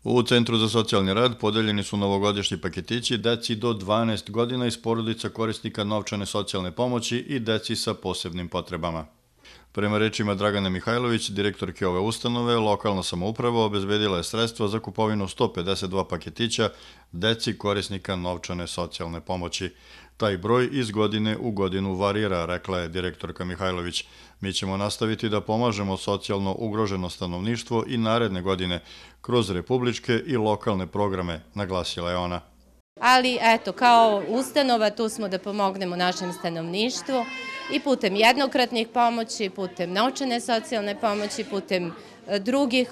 U Centru za socijalni rad podeljeni su novogodišnji paketići deci do 12 godina iz porodica korisnika novčane socijalne pomoći i deci sa posebnim potrebama. Prema rečima Dragane Mihajlović, direktorke ove ustanove, lokalna samouprava obezbedila je sredstva za kupovinu 152 paketića deci korisnika novčane socijalne pomoći. Taj broj iz godine u godinu varira, rekla je direktorka Mihajlović. Mi ćemo nastaviti da pomažemo socijalno ugroženo stanovništvo i naredne godine kroz republičke i lokalne programe, naglasila je ona. Ali eto, kao ustanova tu smo da pomognemo našem stanovništvu i putem jednokratnih pomoći, putem novčane socijalne pomoći, putem drugih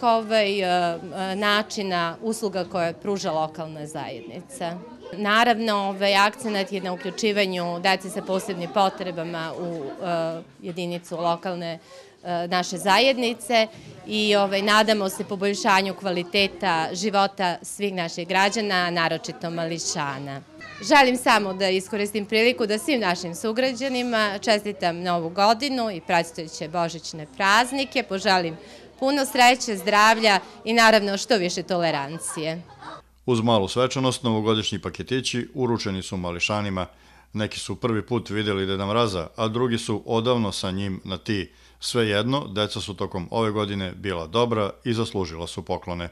načina usluga koje pruža lokalna zajednica. Naravno, akcenat je na uključivanju dece sa posebnim potrebama u jedinicu lokalne naše zajednice i nadamo se poboljšanju kvaliteta života svih naših građana, naročito mališana. Želim samo da iskoristim priliku da svim našim sugrađanima čestitam Novu godinu i predstojeće božićne praznike, poželim puno sreće, zdravlja i naravno što više tolerancije. Uz malu svečanost, novogodišnji paketići uručeni su mališanima. Neki su prvi put vidjeli Deda Mraza, a drugi su odavno sa njim na ti. Svejedno, deca su tokom ove godine bila dobra i zaslužila su poklone.